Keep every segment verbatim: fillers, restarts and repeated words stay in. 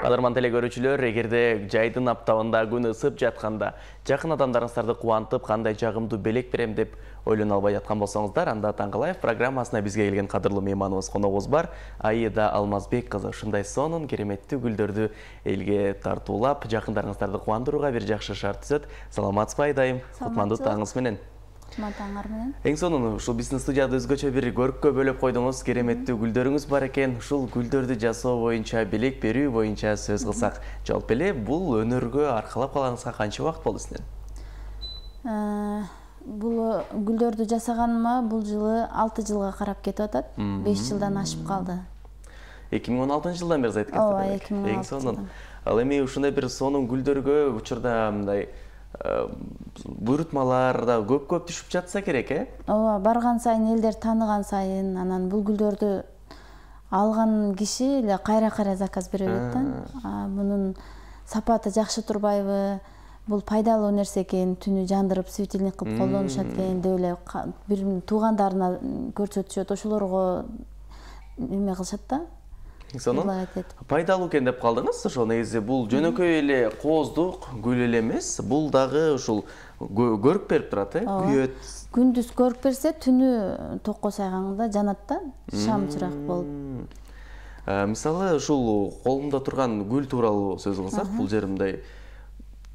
Кадырман теле көрүүчүлөр, эгерде жайдын аптабында күн ысып жатканда жакын адамдарыңыздарды кубантып, кандай жагымдуу белек берем деп ойлоно албай жаткан болсоңуздар, анда Таңкалаев программасына бизге келген кадырлуу мейманыбыз, коногубуз бар. Аида Алмазбек кызы ушундай сонун кереметтүү гүлдөрдү элге тартуулап, жакындарыңыздарды кубандырууга бир жакшы шарт түзөт. Саламатсызбы Айдайым? Кутмандуу таңыңыз менен. Таңар менен. Эң сонун ушул биздин студияда өзгөчө бир көрккө бөлөп койдуңуз, кереметтүү гүлдөрүңүз бар экен. Ушул гүлдөрдү жасоо боюнча, белек берүү боюнча сөз кылсак, жалпы эле бул өнөргө аркалап калганыңызга канча убакыт болду сиздин? Бул гүлдөрдү жасаганыма бул жылы алты жылга карап кетип атат. беш жылдан ашып калды. эки миң он алтынчы жылдан бери айтып кетип атат. эки миң он алты. Эң сонун. Ал эми ушундай бир сонун гүлдөргө учурда мындай буйрутмалар да көп-көп түшүп жатса керек, э? Ооба, барган сайын элдер тааныган сайын, анан бул гүлдөрдү алган киши эле кайра-кайра заказ бере берет да. Мунун сапаты жакшы турбайбы? Бул пайдалуу нерсе экен, түнү жандырып, светильник кылып колдонушат экен деп эле бир туугандарына көрсөтүшөт, ошолорго эме кылышат да. Сонун пайдалуу экен деп калдыңыз. Ошо негизи бул жөнөкөй эле кооздук гүл эле эмес, бул дагы ушул көрүк берип турат, э? Күйөт. Күндүз көрүк берсе, түнү токко сайганда жанат да, шам чырак болуп. Мисалы, ушул колумда турган гүл тууралуу сөз кылсак, бул жер мындай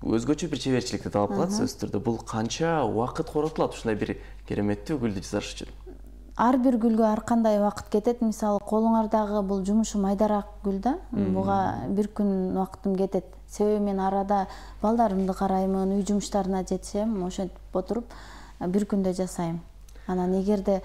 өзгөчө бир чеберчиликти талап кылат сөзсүз түрдө. Бул канча убакыт коротулат ушундай бир кереметтүү гүлдү жасаш үчүн? Ар бир гүлгө ар кандай убакыт кетет. Мисалы, колуңардагы бул жумушу майдараак гүл да. Буга бир күн убакытым кетет. Себеби мен арада балдарымды караймын, үй жумуштарына жетишем, ошентип отуруп бир күндө жасайм. Анан эгерде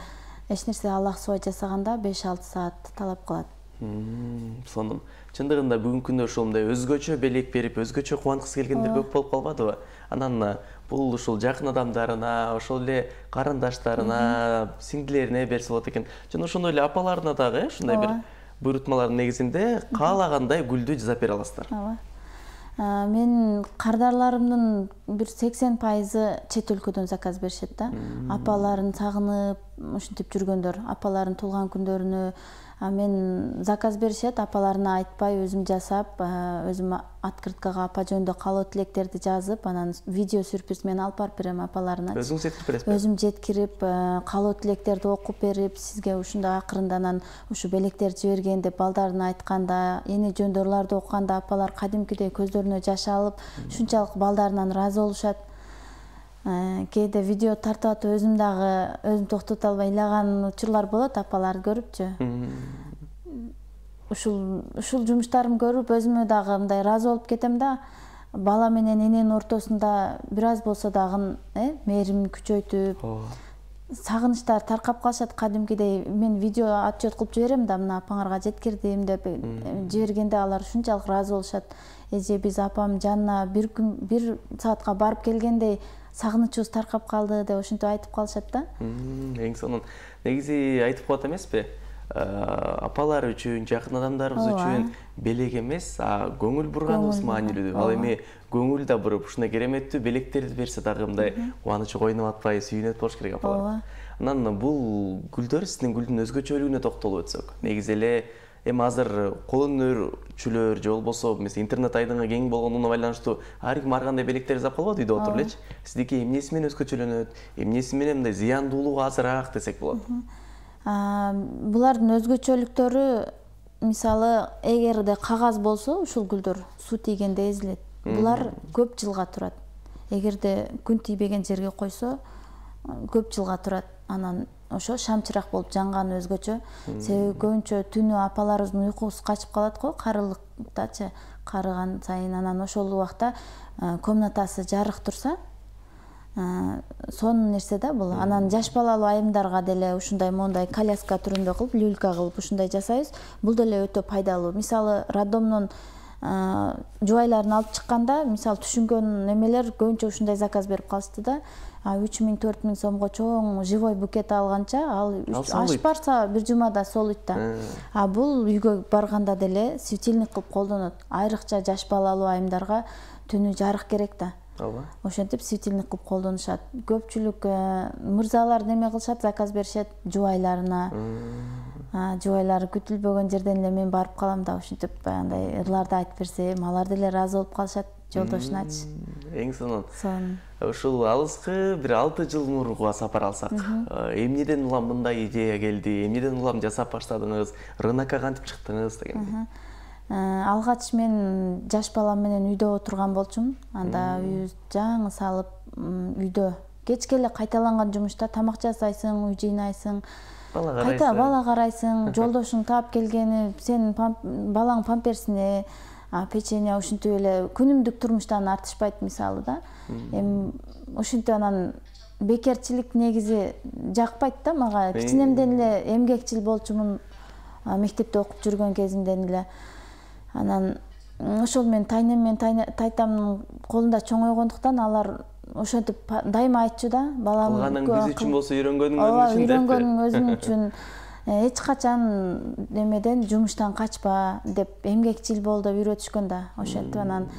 эч нерсе алаксыбай жасаганда беш алты саат талап кылат. Сонун. Чындыгында бүгүнкү күндө ушул мындай өзгөчө белек берип, өзгөчө кубанткысы келгендер көп болуп калбадыбы? Анан бул ушул жакын адамдарына, ошол эле карындаштарына, сиңдилерине берсе болот экен. Жана ошондой эле апаларына дагы ушундай бир буйрутмалардын негизинде каалагандай гүлдү жасап бере аласыздар. Ооба. Мен кардарларымдын бир сексен пайызы чет өлкөдөн заказ беришет да. Апаларын сагынып, ушинтип жүргөндөр, апаларын туулган күндөрүнө мен заказ беришет, апаларына айтпай өзүм жасап, өзүм открыткага апа жөнүндө каалоо тилектерди жазып, анан видео сюрприз менен алып барып берем апаларына. Өзүңүз жеткирип бересизби? Өзүм жеткирип, каалоо тилектерди окуп берип, сизге ушундай акырында анан ушу белектерди жиберген деп балдарына айтканда, эне жөндөрлөрдү окуганда апалар кадимкидей көздөрүнө жаш алып, ушунчалык балдарынан ыраазы болушат. Кээде видео тартып атып өзүм дагы өзүм токтото албай ыйлаган учурлар болот апаларды көрүпчү. Ушул ушул жумуштарымды көрүп өзүмө дагы мындай ыраазы болуп кетем да, бала менен эненин ортосунда бир аз болсо дагы мээримин күчөйтүп, сагынычтар таркап калышат кадимкидей. Мен видео отчет кылып жиберем да, мына апаңарга жеткирдим деп жибергенде алар ушунчалык ыраазы болушат. Эже, биз апам жанына бир күн бир саатка барып келгендей сагынычыбыз таркап калды деп ошентип айтып калышат да. Эң сонун. Негизи айтып коет эмеспи? Апалар үчүн, жакын адамдарыбыз үчүн белек эмес, көңүл бурганыбыз маанилүү. Ал эми көңүл да буруп, ушундай кереметтүү белектерди берсе дагы мындай кубанычы койнуп атпай, сүйүнөт болуш керек апалар. Анан бул гүлдөр сиздин гүлдүн өзгөчөлүгүнө токтолуп өтсөк. Негизи эле эми азыр кол өнөрчүлөр же болбосо интернет айдыңы кең болгондугуна байланыштуу ар ким ар кандай белектер жасап калбайбы үйдө отуруп элечи. Сиздики эмнеси менен өзгөчөлөнөт, эмнеси менен мындай зыяндуулугу азыраак десек болот? Булардын өзгөчөлүктөрү, мисалы, эгерде кагаз болсо, ушул гүлдөр суу тийгенде эзилет. Булар көп жылга турат. Эгерде күн тийбеген жерге койсо, көп жылга турат. Анан ошо шамчырак болуп жанганы өзгөчө. Себеби көбүнчө түнү апаларыбыздын уйкусу качып калат го, карылыктачы, карыган сайын. Анан ошол убакта комнатасы жарык турса, сонун нерсе да бул. Анан жаш балалуу айымдарга деле ушундай моундай коляска түрүндө кылып, люлька кылып ушундай жасайбыз. Бул деле өтө пайдалуу. Мисалы, роддомдон жубайларын алып чыкканда, мисалы, түшүнгөн эмелер көбүнчө ушундай заказ берип калышты да. үч миң төрт миң сомго чоң живой букет алганча, ал аш барса бир жумада солуйт да. А бул үйгө барганда деле светильник кылып колдонот. Айрыкча жаш балалуу айымдарга түнү жарык керек да. Ошентип светильник кылып колдонушат. Көпчүлүк мырзалар неме кылышат, заказ беришет жубайларына. жубайлар күтүлбөгөн жерден эле мен барып калам да ушинтип баягындай ырларды айтып берсем алар деле ыраазы болуп калышат жолдошуначы. Эң сонун. Ушул алыскы бир алты жыл мурунга сапар алсак, эмнеден улам мындай идея келди, эмнеден улам жасап баштадыңыз, рынокко кантип чыктыңыз дегендей? Алгач мен жаш балам менен үйдө отурган болчумун. Анда үйүбүздү жаңы салып, үйдө кечке эле кайталанган жумушта тамак жасайсың, үй жыйнайсың, кайта бала карайсың, жолдошуң таап келгени, сенин балаң памперсине, печенье ушинтип эле күнүмдүк турмуштан артышпайт мисалы да. Эми ушинтип анан бекерчилик негизи жакпайт да мага. Кичинемден эле эмгекчил болчумун, мектепте окуп жүргөн кезимден эле. Анан ошол мен тайнем менен тайтамдын колунда чоңойгондуктан алар ошентип дайыма айтчу да, балам кылганың биз үчүн болсо үйрөнгөнүң өзүң үчүн деп. Үйрөнгөнүң өзүң үчүн эч качан немеден жумуштан качпа деп эмгекчил бол деп үйрөтүшкөн да. Ошентип анан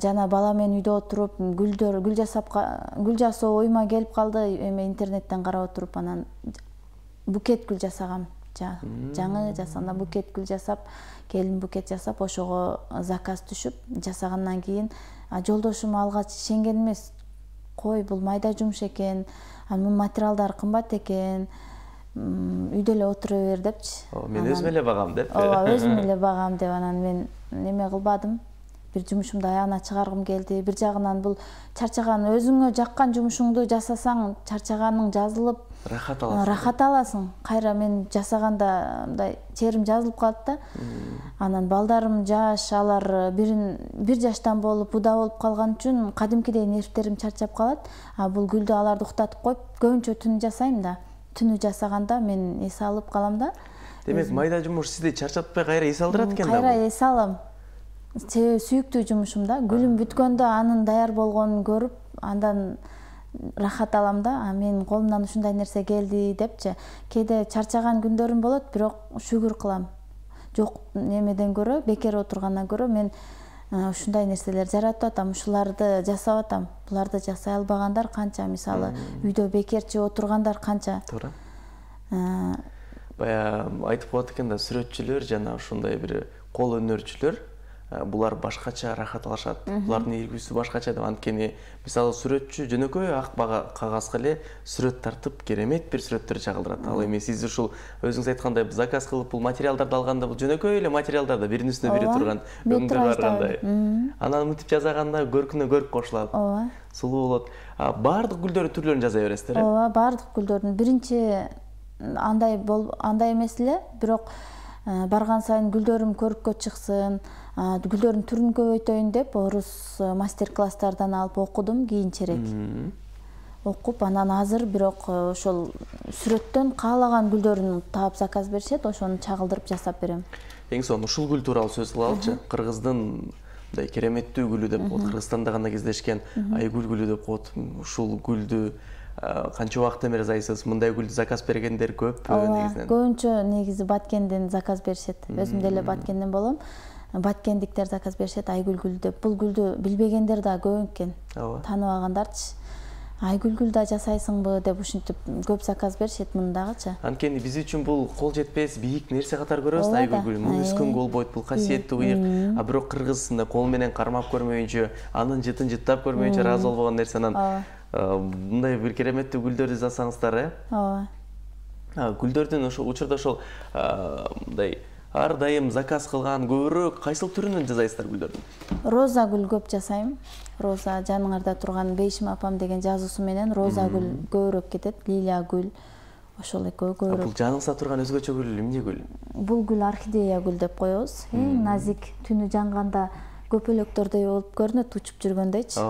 жана бала менен үйдө отуруп гүлдөр гүл жасап гүл жасоо оюма келип калды. Эме интернеттен карап отуруп анан букет гүл жасагам. Жаңы жасаганда букет гүл жасап, келин букет жасап, ошого заказ түшүп, жасагандан кийин жолдошум алгач ишенген эмес. Кой, бул майда жумуш экен, анын материалдары кымбат экен, үйдө эле отура бер депчи. Мен өзүм эле багам деп. Ооба, өзүм эле багам деп анан мен неме кылбадым. Бир жумушумду аягына чыгаргым келди. Бир жагынан бул чарчаган, өзүңө жаккан жумушуңду жасасаң, чарчаганың жазылып, рахат аласың. Рахат аласың. Кайра мен жасаганда мындай терим жазылып калат да. Анан балдарым жаш, алар бирин бир жаштан болуп, буда болуп калган үчүн кадимкидей нервтерим чарчап калат. А бул гүлдү аларды уктатып коюп, көбүнчө түнү жасайм да. Түнү жасаганда мен эс алып калам да. Демек майда жумуш сизди чарчатпай кайра эс алдырат экен да. Кайра эс алам. Себеби сүйүктүү жумушум да. Гүлүм бүткөндө анын даяр болгонун көрүп, андан рахат алам да. А менин колумдан ушундай нерсе келди депчи. Кээде чарчаган күндөрүм болот, бирок шүгүр кылам. Жок немеден көрө, бекер отургандан көрө мен ушундай нерселер жаратып атам, ушуларды жасап атам. Буларды жасай албагандар канча, мисалы, үйдө бекерчи отургандар канча. Туура. Бая айтып коет экен да, сүрөтчүлөр жана ушундай бир кол өнөрчүлөр булар башкача рахат алышат. Булардын ийгүсү башкача деп. Анткени мисалы сүрөтчү жөнөкөй ак кагазга эле сүрөт тартып, керемет бир сүрөттөр чагылдырат. Ал эми сиз ушул өзүңүз айткандай заказ кылып бул материалдарды алганда бул жөнөкөй эле материалдарда биринин үстүнө бири турган өңдөр бар кандай. Анан мынтип жасаганда көркүнө көрк кошулат. Ооба. Сулуу болот. Баардык гүлдөрдүн түрлөрүн жасай бересиздер э? Ооба, баардык гүлдөрдүн. Биринчи андай бол андай эмес эле, бирок барган сайын гүлдөрүм көрүккө чыксын, гүлдөрдүн түрүн көбөйтөйүн деп орус мастер-класстардан алып окудум кийинчерээк. Окуп, анан азыр бирок ошол сүрөттөн каалаган гүлдөрүн таап заказ беришет, ошону чагылдырып жасап берем. Эң сонун ушул гүл тууралуу сөз кылалычы. Кыргыздын мындай кереметтүү гүлү деп коет, Кыргызстанда гана кездешкен айгүл гүлү деп коет. Ушул гүлдү канча убакыттан бери жасайсыз? Мындай гүлдү заказ бергендер көппү негизинен? Көбүнчө негизи Баткенден заказ беришет. Өзүм деле Баткенден болом. Баткендиктер заказ беришет айгүл гүл деп. Бул гүлдү билбегендер да көп экен. Тааныбагандарчы. Айгүл гүл да жасайсыңбы деп ушинтип көп заказ беришет мындагычы. Анткени биз үчүн бул кол жетпес бийик нерсе катары көрөбүз айгүл гүлүн. Муну үскөнгө болбойт, бул касиеттүү ыйык. А бирок кыргызында кол менен кармап көрмөйүнчө, анын жытын жыттап көрмөйүнчө ыраазы болбогон нерсе. Анан мындай бир кереметтүү гүлдөрдү жасасаңыздар э? Ооба. Гүлдөрдүн ошол учурда ошол мындай ар дайым заказ кылган көбүрөөк кайсыл түрүнөн жасайсыздар гүлдөрдүн? Роза гүл көп жасайм. Роза жаныңарда турган Бейшим апам деген жазуусу менен роза гүл көбүрөөк кетет, лилия гүл. Ошол экөө көбүрөөк. Бул жаныңызда турган өзгөчө гүл эмне гүл? Бул гүл орхидея гүл деп коебуз. Эң назик, түнү жанганда көпөлөктөрдөй болуп көрүнөт, учуп жүргөндөйчү.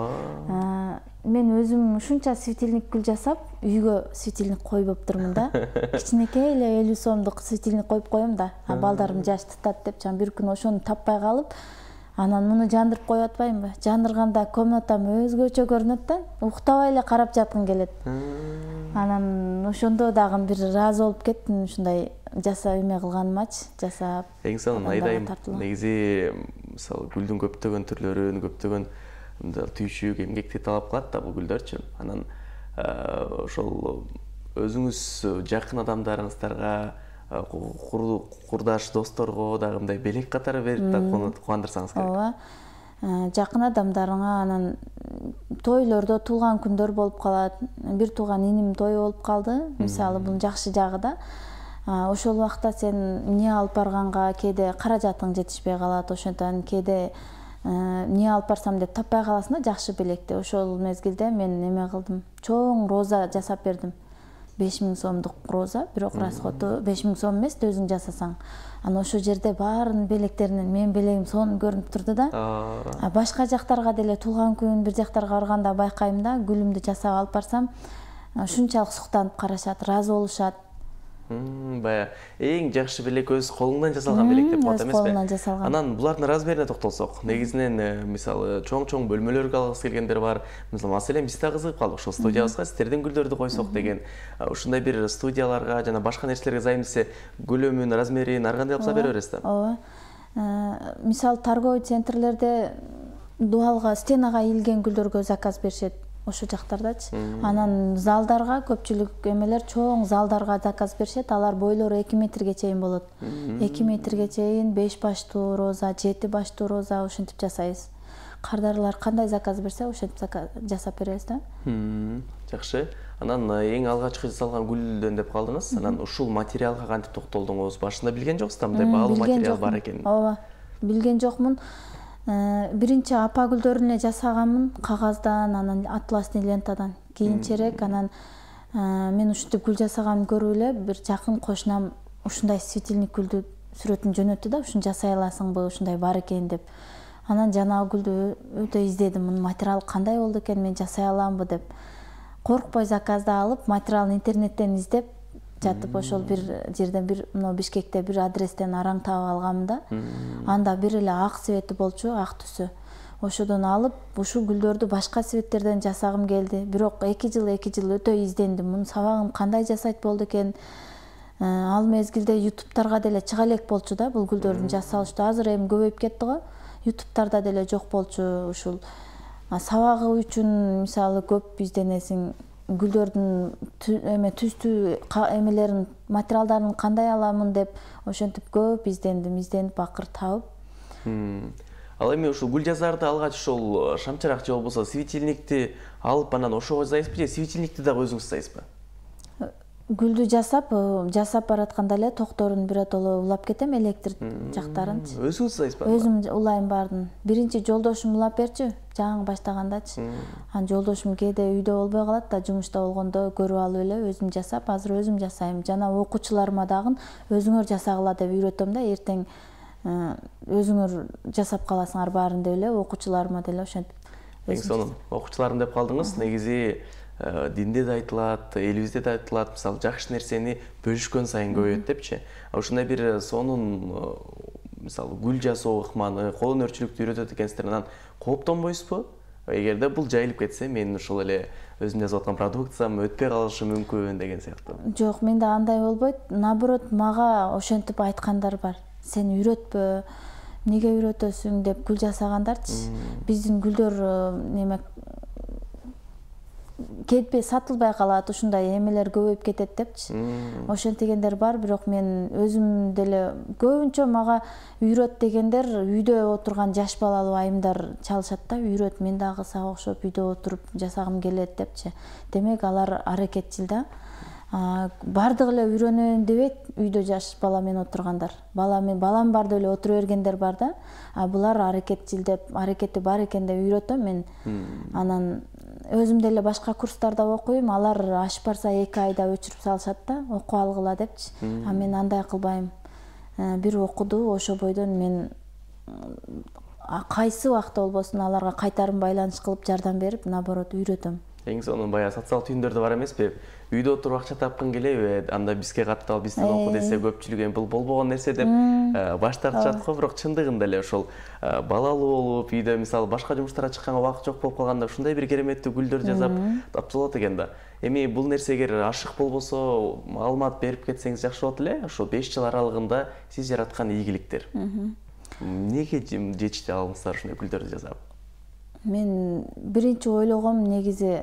Мен өзүм ушунча светильник гүл жасап, үйгө светильник койбоптурмун да. Кичинекей эле элүү сомдук светильник коюп коем да. Балдарым жаш тутат деп, жан бир күн ошону таппай калып, анан муну жандырып коюп атпаймынбы? Жандырганда комнатам өзгөчө көрүнөт да, уктабай эле карап жаткым келет. Анан ошондо дагы бир ыраазы болуп кеттим, ушундай жасап эме кылганымачы, жасап. Эң сонун айдайм. Негизи мисалы гүлдүн көптөгөн түрлөрүн, көптөгөн түйшүк, эмгекти талап кылат да бул гүлдөрчү. Анан ошол өзүңүз жакын адамдарыңыздарга курдаш досторго дагы мындай белек катары берип да кубандырсаңыз керек. Ооба. Жакын адамдарыңа, анан тойлордо туулган күндөр болуп калат. Бир тууган иним тою болуп калды. Мисалы, бунун жакшы жагы да, ошол убакта сен эмне алып барганга кээде каражатың жетишпей калат, ошондон кээде эмне алып барсам деп таппай каласың да жакшы белекти. Ошол мезгилде мен неме кылдым, чоң роза жасап бердим. беш миң сомдук роза, бирок расходу беш миң сом эмес, өзүң жасасаң. Анан ошол жерде баарынын белектеринен менин белегим сонун көрүнүп турду да. А башка жактарга деле туулган күн бир жактарга барганда байкайм да, гүлүмдү жасап алып барсам, ушунчалык суктанып карашат, ыраазы болушат. Бая эң жакшы белек өз колуңдан жасалган белек деп коет эмеспи? Өз колунан жасалган. Анан булардын размерине токтолсок, негизинен мисалы чоң-чоң бөлмөлөргө алгысы келгендер бар. Мисалы, маселен биз да кызыгып калдык, ошол студиябызга сиздердин гүлдөрдү койсок деген. Ушундай бир студияларга жана башка нерселерге зайым десе, көлөмүн, размерин ар кандай алса бере бересиз да? Ооба. Мисалы, торговый центрлерде дуалга, стенага ийилген гүлдөргө заказ беришет. Ошол жактардачы. Анан залдарга көпчүлүк эмелер чоң залдарга заказ беришет. Алар бойлору эки метрге чейин болот. эки метрге чейин беш баштуу роза, жети баштуу роза ошентип жасайбыз. Кардарлар кандай заказ берсе, ошентип жасап беребиз да. Жакшы. Анан эң алгачкы жасалган гүлдөн деп калдыңыз. Анан ушул материалга кантип токтолдуңуз? Башында билген жоксуз да, мындай баалуу материал бар экенин. Ооба. Билген жокмун. Биринчи апа гүлдөрүн эле жасаганмын, кагаздан, анан атласный лентадан. Кийинчерээк анан мен ушинтип гүл жасаганымды көрүп эле бир жакын кошунам ушундай светильник гүлдү сүрөтүн жөнөттү да, ушуну жасай аласыңбы, ушундай бар экен деп. Анан жанагы гүлдү өтө издедим, мунун материалы кандай болду экен, мен жасай аламбы деп. Коркпой заказды алып, материалын интернеттен издеп жатып, ошол бир жерден, бир мына Бишкекте бир адрестен араң таап алгам да. Анда бир эле ак цвети болчу, ак түсү. Ошодон алып, ушул гүлдөрдү башка цветтерден жасагым келди. Бирок эки жыл эки жыл өтө издендим. Мунун сабагын кандай жасайт болду экен? Ал мезгилде ютубтарга деле чыга элек болчу да, бул гүлдөрдүн жасалышту. Азыр эми көбөйүп кетти го. Ютубтарда деле жок болчу ушул. Сабагы үчүн мисалы көп изденесиң. Гүлдөрдүн эме түстүү эмелерин, материалдарын кандай аламын деп ошентип көп издендим, изденип акыр таап. Ал эми ушул гүл жасарды алгач ошол шамчырак же болбосо светильникти алып анан ошого жасайсызбы же светильникти дагы өзүңүз жасайсызбы? Гүлдү жасап, жасап баратканда эле токторун биротоло улап кетем, электр жактарынчы. Өзүңүз жасайсызбы? Өзүм улайм баарын. Биринчи жолдошум улап берчү, жаңы баштагандачы. Анан жолдошум кээде үйдө болбой калат да, жумушта болгондо көрүп алып эле өзүм жасап, азыр өзүм жасайм. Жана окуучуларыма дагы өзүңөр жасагыла деп үйрөтөм да, эртең өзүңөр жасап каласыңар баарын деп эле окуучуларыма деле ошентип. Эң сонун. Окуучуларым деп калдыңыз. Негизи динде да айтылат, элибизде да айтылат, мисалы жакшы нерсени бөлүшкөн сайын көбөйөт депчи. Ушундай бир сонун мисалы гүл жасоо ыкманы, кол өнөрчүлүктү үйрөтөт экенсиздер, анан кооптонбойсузбу? Эгерде бул жайылып кетсе, мен ушул эле өзүм жасап аткан продукциям өтпөй калышы мүмкүн деген сыяктуу. Жок, менде андай болбойт. Наоборот, мага ошентип айткандар бар. Сен үйрөтпө, эмнеге үйрөтөсүң деп гүл жасагандарчы. Биздин гүлдөр неме кетпей сатылбай калат, ушундай эмелер көбөйүп кетет депчи. Ошентигендер бар, бирок мен өзүм деле көбүнчө мага үйрөт дегендер үйдө отурган жаш балалуу айымдар чалышат да, үйрөт, мен дагы сага окшоп үйдө отуруп жасагым келет депчи. Демек алар аракетчил да. Бардыгы эле үйрөнөйүн дебейт, үйдө жаш бала менен отургандар. Бала мен балам бар деп эле отура бергендер бар да. А булар аракетчил деп, аракети бар экен деп үйрөтөм мен. Анан өзүм деле башка курстарда окуйм, алар ашып барса эки айда өчүрүп салышат да, окуп алгыла депчи. А мен андай кылбайм. Бир окуду, ошо бойдон мен кайсы убакта болбосун аларга кайтарым байланыш кылып жардам берип, наоборот үйрөтөм. Эң сонун баягы социалдык түйүндөрдө бар эмеспи? Үйдө отуруп акча тапкың келеби? Анда бизге каттал, бизден оку десе көпчүлүк эми бул болбогон нерсе деп баш тартышат го, бирок чындыгында эле ошол балалуу болуп, үйдө мисалы башка жумуштарга чыкканга убакыт жок болуп калганда ушундай бир кереметтүү гүлдөрдү жасап тапса болот экен да. Эми бул нерсеге ашык болбосо, маалымат берип кетсеңиз жакшы болот эле. Ошо беш жыл аралыгында сиз жараткан ийгиликтер. Эмнеге жетишти алыңыздар ушундай гүлдөрдү жасап? Мен биринчи ойлогом негизи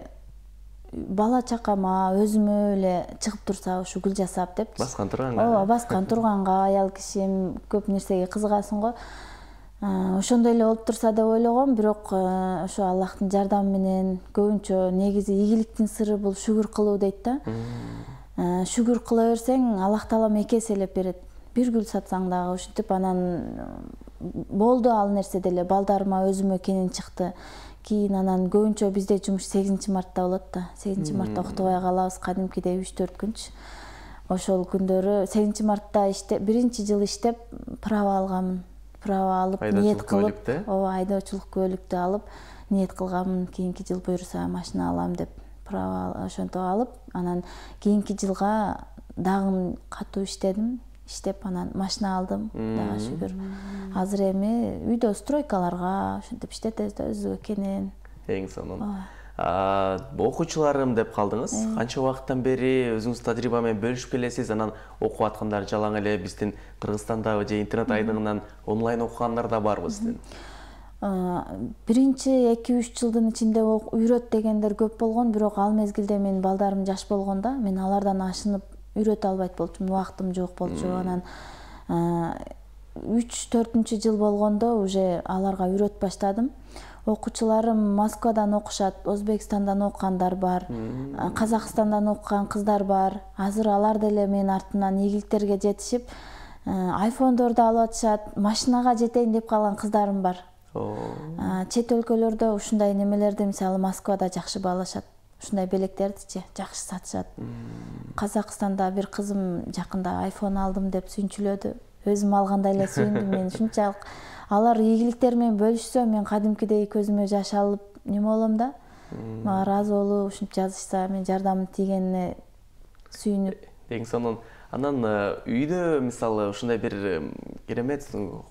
бала чакама өзүмө эле чыгып турса ушу гүл жасап деп. Баскан турганга. Ооба, баскан турганга аял кишим көп нерсеге кызыгасың го. Ошондой эле болуп турса деп ойлогом, бирок ошо Аллахтын жардамы менен көбүнчө негизи ийгиликтин сыры бул шүгүр кылуу дейт да. Шүгүр кыла берсең, Аллах Таалам эки эселеп берет. Бир гүл сатсаң дагы ушинтип анан болду ал нерсе деле балдарыма өзүмө кенен чыкты. Кийин анан көбүнчө бизде жумуш сегизинчи мартта болот да. сегизинчи мартта уктубай калабыз, кадимкидей үч төрт күнчү. Ошол күндөрү сегизинчи мартта иштеп, биринчи жыл иштеп права алганмын. Права алып, ниет кылып, ооба, айдоочулук куәлүктү алып, ниет кылганмын, кийинки жыл буюрса машина алам деп. Права ошонтип алып, анан кийинки жылга дагы катуу иштедим. Иштеп анан машина алдым, дагы шүгүр. Азыр эми үйдө стройкаларга ошентип иштетебиз экенин. Эң сонун. Окуучуларым деп калдыңыз. Канча убакыттан бери өзүңүз тажрыйба менен бөлүшүп келесиз? Анан окуп аткандар жалаң эле биздин Кыргызстандагы же интернет айдыңынан онлайн окугандар да барбы сиздин? Биринчи эки үч жылдын ичинде үйрөт дегендер көп болгон, бирок ал мезгилде менин балдарым жаш болгондо, мен алардан ашынып үйрөтө албайт болчумун, убактым жок болчу. Анан үч төртүнчү жыл болгондо уже аларга үйрөтүп баштадым. Окуучуларым Москвадан окушат, Өзбекстандан окугандар бар, Казакстандан окуган кыздар бар. Азыр алар деле менин артымдан ийгиликтерге жетишип, айфондорду алып атышат, машинага жетейин деп калган кыздарым бар. Чет өлкөлөрдө ушундай немелерди, мисалы Москвада жакшы баалашат. Ушундай белектердичи жакшы сатышат. Казакстанда бир кызым жакында айфон алдым деп сүйүнчүлөдү. Өзүм алгандай эле сүйүндүм. Мен ушунчалык алар ийгиликтер менен бөлүшсө, мен кадимкидей көзүмө жаш алып неме болом да. Мага ыраазы болуп, ушинтип жазышса, мен жардамым тийгенине сүйүнүп. Эң сонун. Анан үйдө мисалы ушундай бир керемет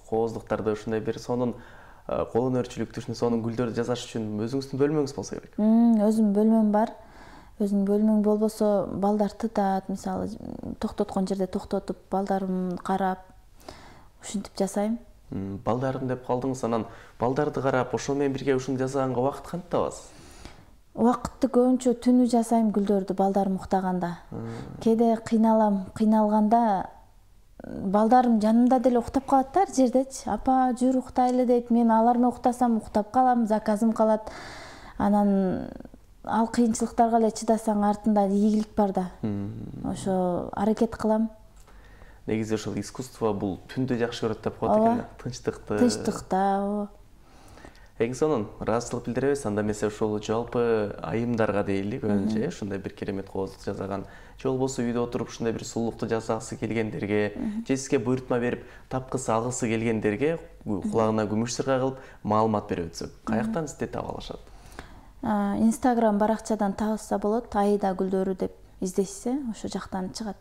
кооздуктарды, ушундай бир сонун кол өнөрчүлүктү, ушундай сонун гүлдөрдү жасаш үчүн өзүңүздүн бөлмөңүз болсо керек. Өзүмдүн бөлмөм бар. Өзүнүн бөлмөң болбосо балдар тытат, мисалы токтоткон жерде токтотуп, балдарымды карап, ушинтип жасайм. Балдарым деп калдыңыз, анан балдарды карап, ошол менен бирге ушуну жасаганга убакыт кантип табасыз? Убакытты көбүнчө түнү жасайм гүлдөрдү балдарым уктаганда. Кээде кыйналам, кыйналганда балдарым жанымда деле уктап калат да, ар жердечи. Апа, жүр уктайлы дейт. Мен алар менен уктасам уктап калам, заказым калат. Анан ал кыйынчылыктарга эле чыдасаң артында ийгилик бар да. Ошо аракет кылам. Негизи ошол искусство бул түндү жакшы көрөт деп коет экен. Тынчтыкты. Тынчтыкта, ооба. Эң сонун, ыраазычылык билдиребиз. Анда эмесе ошол жалпы айымдарга дейли, көбүнчө ушундай бир керемет кооздук жасаган, же болбосо үйдө отуруп ушундай бир сулуулукту жасагысы келгендерге, же сизге буйрутма берип тапкысы алгысы келгендерге кулагына күмүш сырга кылып маалымат берип өтсөк, каяктан сизди таба алышат? Инстаграм баракчадан табышса болот, Аида гүлдөрү деп издешсе, ошо жактан чыгат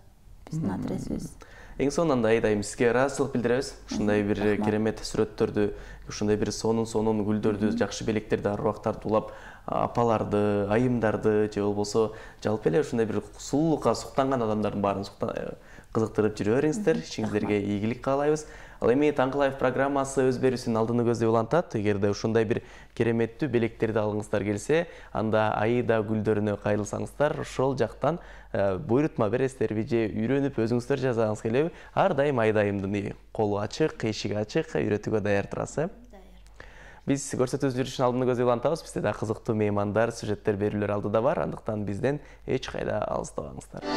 биздин адресибиз. Эң сонун, анда Айдайым, сизге ыраазычылык билдиребиз. Ушундай бир керемет сүрөттөрдү, ушундай бир сонун-сонун гүлдөрдү, жакшы белектерди, аруактарды улап, апаларды, айымдарды, же болбосо жалпы эле ушундай бир сулуулукка суктанган адамдардын баарын кызыктырып жүрө бериңиздер. Ишиңиздерге ийгилик каалайбыз. Ал эми Таңкы Лайв программасы өз берүүсүнүн алдыны көздөй улантат. Эгерде ушундай бир кереметтүү белектерди алгыңыздар келсе, анда Аида гүлдөрүнө кайрылсаңыздар, ошол жактан буйрутма бересиздерби же үйрөнүп өзүңүздөр жасагыңыз келеби? Ар дайым Айдайымдын колу ачык, эшиги ачык, үйрөтүүгө даяр турасыз. Биз көрсөтүүбүз жүрүшүнүн алдыны көздөй улантабыз. Бизде да кызыктуу меймандар, сюжеттер, берүүлөр алдыда бар. Андыктан бизден эч кайда алыстабаңыздар.